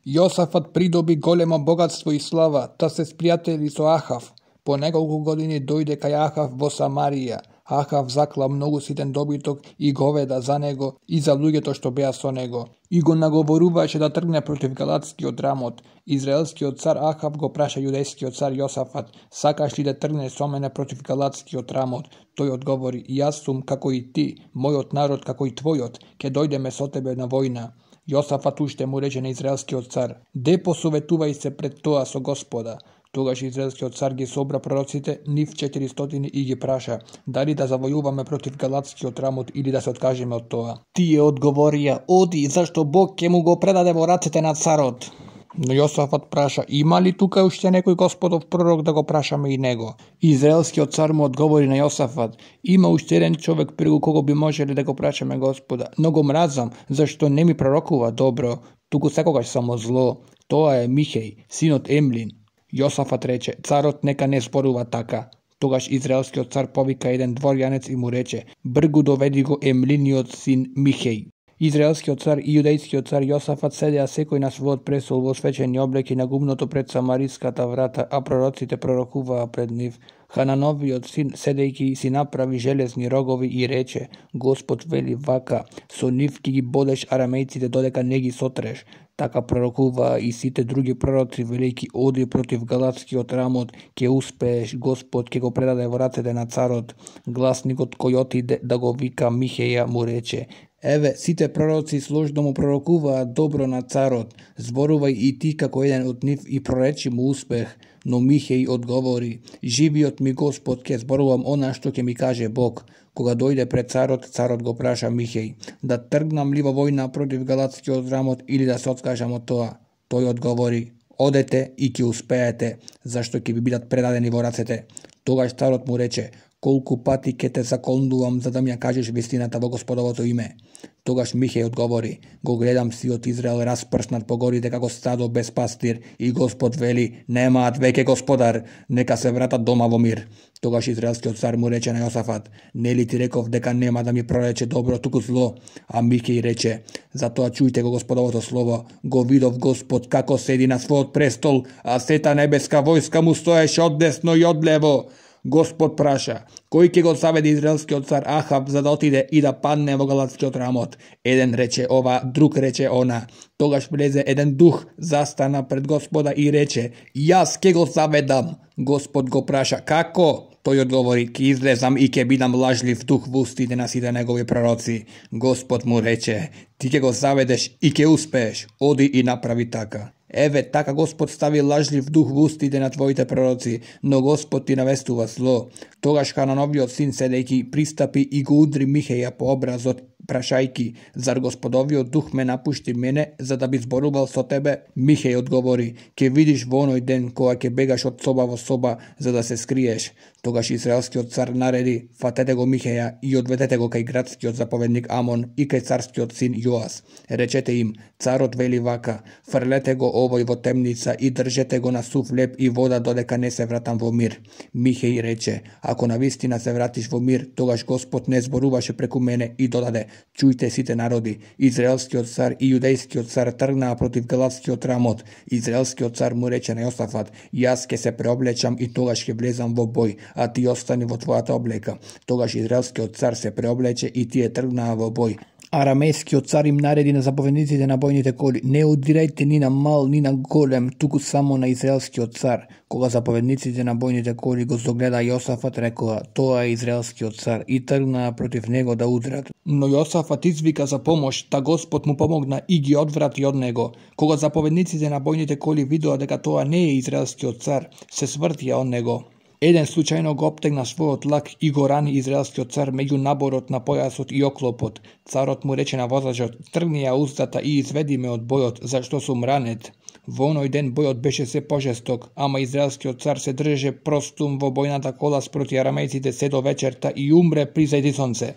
Јосафат придоби големо богатство и слава, та се спријатели со Ахав. По неколку години дојде кај Ахав во Самарија. Ахав закла многу ситен добиток и говеда за него и за луѓето што беа со него. И го наговоруваше да тргне против галатскиот рамот. Израелскиот цар Ахав го праша јудејскиот цар Јосафат: сакаш ли да тргнеш со мене против галатскиот рамот? Тој одговори: јас сум како и ти, мојот народ како и твојот, ќе дојдеме со тебе на војна. Јосафат уште му рече на израелскиот цар: де посоветувај се пред тоа со Господа. Тогаш израелскиот цар ги собра пророците, нив 400, и ги праша: дали да завојуваме против галатскиот рамот или да се откажеме од тоа? Тие одговорија: оди, зашто Бог ќе му го предаде во рацете на царот. Но Јосафат праша: има ли тука уште некој Господов пророк да го прашаме и него? Израелскиот цар му одговори на Јосафат: има уште еден човек преку кого би можеле да го прашаме Господа, но го мразам, зашто не ми пророкува добро, туку секогаш само зло. Тоа е Михеј, синот Емлин. Јосафат рече: царот нека не зборува така. Тогаш израелскиот цар повика еден дворјанец и му рече: бргу доведи го Емлиниот син Михеј. Израелскиот цар и јудејскиот цар Јосафат седеа секој на својот престол во свечени облеки на гумното пред самариската врата, а пророците пророкуваа пред нив. Ханановиот син, седејќи, си направи железни рогови и рече: Господ вели вака: со нив ќе ги бодеш арамејците додека не ги сотреш. Така пророкуваа и сите други пророци, велејќи: оди против галатскиот рамот, ќе успееш, Господ ќе го предаде во рацете на царот. Гласникот кој отиде да го вика Михеја му рече: еве, сите пророци сложно му пророкуваат добро на царот, зборувај и ти како еден од нив и проречи му успех. Но Михеј одговори: живиот ми Господ, ќе зборувам она што ќе ми каже Бог. Кога дојде пред царот, царот го праша Михеј: да тргнам ли во војна против галатскиот рамот или да се откажам од тоа? Тој одговори: одете и ќе успеете, зашто ќе ви бидат предадени во рацете. Тогаш царот му рече: колку пати ќе те заколнувам за да ми ја кажеш вистината во Господовото име? Тогаш Михеј одговори: го гледам сиот Израел распрснат по горите како стадо без пастир и Господ вели: немаат веќе господар, нека се вратат дома во мир. Тогаш израелскиот цар му рече на Јосафат: нели ти реков дека нема да ми прорече добро, туку зло? А Михеј рече: затоа чујте го Господовото слово. Го видов Господ како седи на својот престол, а сета небеска војска му стоеше оддесно и одлево. Господ праша: кој ќе го заведе израелскиот цар Ахав за да отиде и да падне во галатскиот рамот? Еден рече ова, друг рече она. Тогаш влезе еден дух, застана пред Господа и рече: јас ќе го заведам. Господ го праша: како? Тој одговори: ќе излезам и ќе бидам лажлив дух во устите на сите негови пророци. Господ му рече: ти ќе го заведеш и ќе успееш, оди и направи така. Еве, така Господ стави лажлив дух во устите на твоите пророци, но Господ ти навестува зло. Тогаш Ханановиот син, седејќи, пристапи и го удри Михеја по образот, прашајки: зар Господовиот дух ме напушти мене за да би зборувал со тебе? Михеј одговори: ќе видиш во оној ден кога ќе бегаш од соба во соба за да се скриеш. Тогаш израелскиот цар нареди: фатете го Михеја и одведете го кај градскиот заповедник Амон и кај царскиот син Јоас. Речете им: царот вели вака: фрлете го овој во темница и држете го на сув леб и вода додека не се вратам во мир. Михеј рече: ако навистина се вратиш во мир, тогаш Господ не зборуваше преку мене и додаде: чујте сите народи, израелскиот цар и јудејскиот цар тргнаа против галатскиот рамот. Израелскиот цар му рече на Јосафат: јас ќе се преоблечам и тогаш ќе влезам во бој, а ти остани во твојата облека. Тогаш израелскиот цар се преоблече и тие тргнаа во бој. Арамејскиот цар им нареди на заповедниците на бојните коли: не удирајте ни на мал, ни на голем, туку само на израелскиот цар. Кога заповедниците на бојните коли го загледа Јосафат, рекоа: тоа е израелскиот цар, и тргнаа против него да удрат. Но Јосафат извика за помош, та Господ му помогна и ги одврати од него. Кога заповедниците на бојните коли видоа дека тоа не е израелскиот цар, се свртија од него. Еден случајно го оптегна својот лак и го рани израелскиот цар меѓу наборот на појасот и оклопот. Царот му рече на возачот: тргни ја уздата и изведи ме од бојот, зашто сум ранет. Во оној ден бојот беше се пожесток, ама израелскиот цар се држеше простум во бојната кола спроти арамејците се до вечерта и умре при зајди сонце.